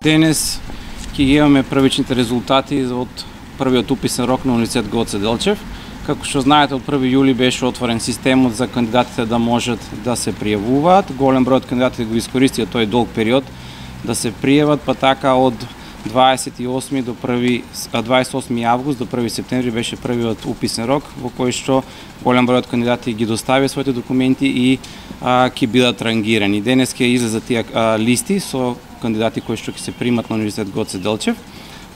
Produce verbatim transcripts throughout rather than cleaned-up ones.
Денес ќе имаме првичните резултати од првиот уписен рок на Универзитет Гоце Делчев. Како што знаете, од први јули беше отворен системот за кандидатите да можат да се пријавуваат. Голем број од кандидатите го искористија тој долг период да се пријават, па така од дваесет и осми до први дваесет и осми август до први септември беше првиот уписен рок во кој што голем број од кандидати ги доставија своите документи и а, ќе бидат рангирани. Денес ќе излезат тие а, листи со кандидати кои што ќе се примат на Универзитет Гоце Делчев.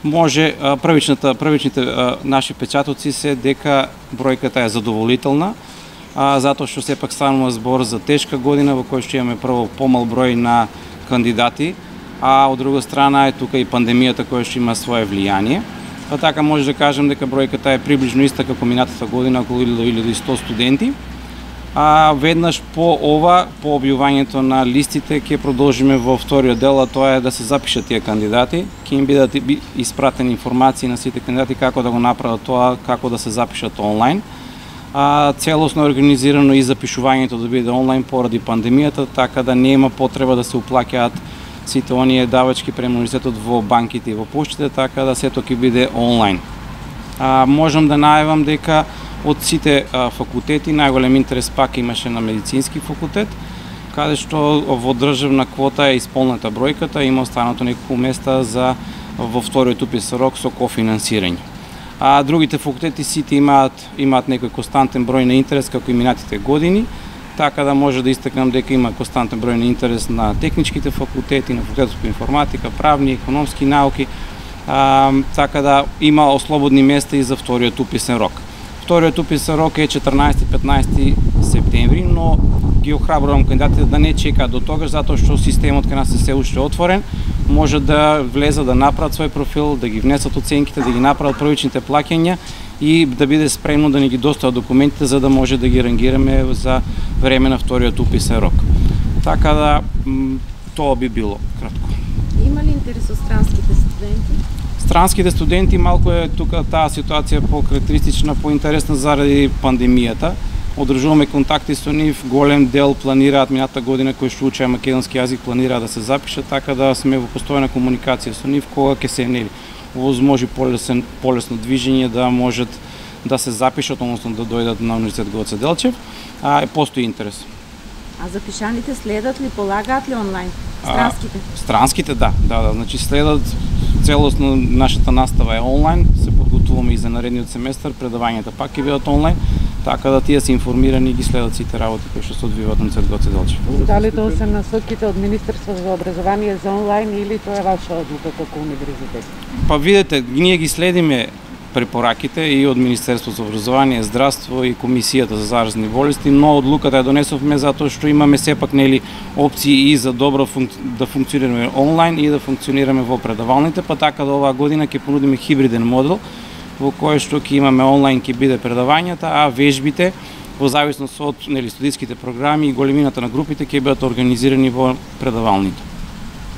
Може а, првичната првичните а, наши печатоци се дека бројката е задоволителна, а, затоа што сепак станува збор за тешка година во кој што имаме прво помал број на кандидати, а од друга страна е тука и пандемијата која што има свое влијание. Па така може да кажем дека бројката е приближно иста како минатата година, околу илјада и сто студенти. А веднаш по ова, по објавувањето на листите, ќе продолжиме во вториот дел, а тоа е да се запишат тие кандидати. Ќе им бидат испратени информации на сите кандидати како да го направат тоа, како да се запишат онлайн. А, целосно организирано и запишувањето да биде онлайн поради пандемијата, така да нема потреба да се уплаќаат сите оние давачки према универзитетот во банките и во поштите, така да сето ќе биде онлайн. А, можам да најавам дека од сите а, факултети најголем интерес пак имаше на медицински факултет, каде што во државна квота е исполнета бројката, има останато неколку места за во вториот уписен рок со кофинансирање. А другите факултети сите имаат имаат некој константен број на интерес како и минатите години, така да може да истакнам дека има константен број на интерес на техничките факултети, на факултетот по информатика, правни, економски науки, а, така да има ослободни места и за вториот уписен рок. Вториот уписен рок е четрнаесети и петнаесети септември, но ги охрабрувам кандидатите да не чекаат до тогаш, затоа што системот кај нас е се уште отворен, може да влезат да направат свој профил, да ги внесат оценките, да ги направат првичните плаќања и да биде спремно да ни ги достават документите за да може да ги рангираме за време на вториот уписен рок. Така да тоа би било кратко. Има ли интерес од странските студенти? Странските студенти малку е тука таа ситуација по-карактеристична, поинтересна заради пандемијата. Одржуваме контакти со нив, голем дел планираат минатата година кои што учеа македонски јазик планираат да се запишат, така да сме во постојна комуникација со нив кога ќе се нели возможи полесен полесно движење да можат да се запишат, односно да дојдат на Универзитет Гоце Делчев, а постои интерес. А запишаните следат ли, полагаат ли онлайн? Странските? А, странските, да, да, да, значи следат целосно нашата настава е онлайн, се подготвуваме и за наредниот семестар, предавањата пак ќе бидат онлайн, така да тие се информирани и ги следат сите работи кои што се одвиваат на Универзитет Гоце Делчев. Дали тоа се насоките од Министерството за образование за онлайн или тоа е ваша одлука како универзитет? Па видете, ние ги следиме препораките и од Министерството за образование, здравство и Комисијата за заразни болести, но одлуката ја донесовме затоа што имаме сепак нели опции и за добро функ... да функционираме онлайн и да функционираме во предавалните, па така да оваа година ќе понудиме хибриден модел во кој што ќе имаме онлайн ќе биде предавањата, а вежбите во зависност од нели студиските програми и големината на групите ќе бидат организирани во предавалните.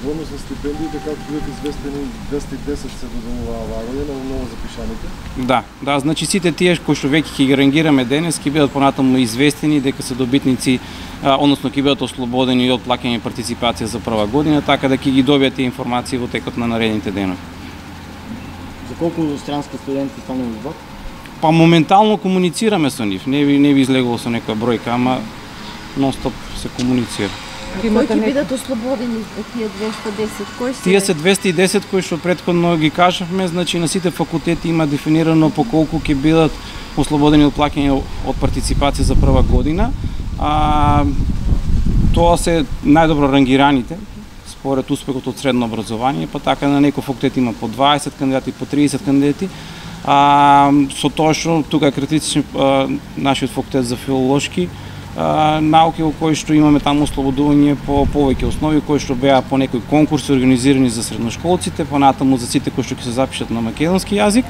Во однос на стипендиите, како бидат известени, двесте и десет се додолува оваа година на ново запишаните? Да, да, значи сите тие кои што веќе ќе ги рангираме денес ќе бидат понатаму известени дека се добитници, а, односно ќе бидат ослободени од плаќање и партиципација за прва година, така да ќе ги добијат тие информации во текот на наредните денови. За колку странски студенти станува збор? Па моментално комуницираме со нив, не ви не ви излегувал со некоја бројка, ама нонстоп се комуницира. Кои ќе бидат ослободени тие двесте и десет? Кои се? Тие се двесте и десет кои што претходно ги кажавме, значи на сите факултети има дефинирано по колку ќе бидат ослободени од плаќање од партиципација за прва година. А, тоа се најдобро рангираните според успехот од средно образование, па така на некој факултет има по дваесет кандидати, по триесет кандидати. А, со тоа што тука е критичен нашиот факултет за филолошки Uh, науки во кои што имаме таму ослободување по повеќе основи кои што беа по некои конкурси организирани за средношколците, понатаму за сите кои што ќе се запишат на македонски јазик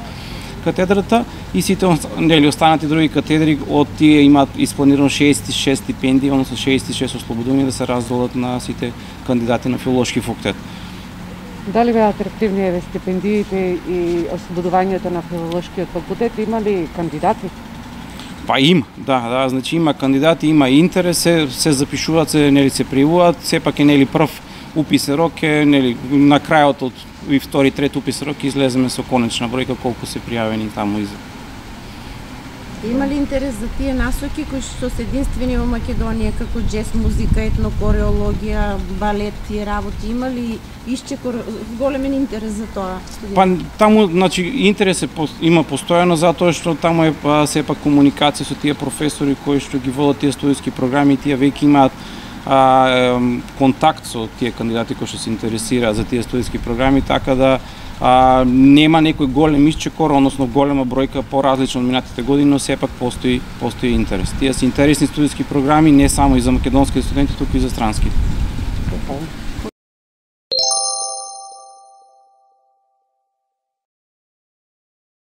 катедрата и сите нели останати други катедри од тие имаат испланирано шеесет и шест стипендии, односно шеесет и шест ослободувања да се разделат на сите кандидати на филолошки факултет. Дали беа атрактивни стипендиите и ослободувањето на филолошкиот факултет? Има ли кандидати? Па има, да, да, значи има кандидати, има интерес, се, се запишуваат, се нели се пријавуваат, сепак е нели прв уписен рок е, нели, на крајот од и втори, трети уписен рок излеземе со конечна бројка колку се пријавени таму иза. Има ли интерес за тие насоки кои што се единствени во Македонија, како джез музика, етнокореологија, балет и работи? Има ли исчекор големен интерес за тоа? Па таму, значи, интерес е, има постојано затоа што таму е па, сепак комуникација со тие професори кои што ги водат тие студиски програми и тие веќе имаат а, контакт со тие кандидати кои што се интересираат за тие студиски програми, така да а, нема некој голем исчекор, односно голема бројка поразлична од минатите години, но сепак постои постои интерес. Тие се интересни студиски програми не само и за македонски студенти, туку и за странски.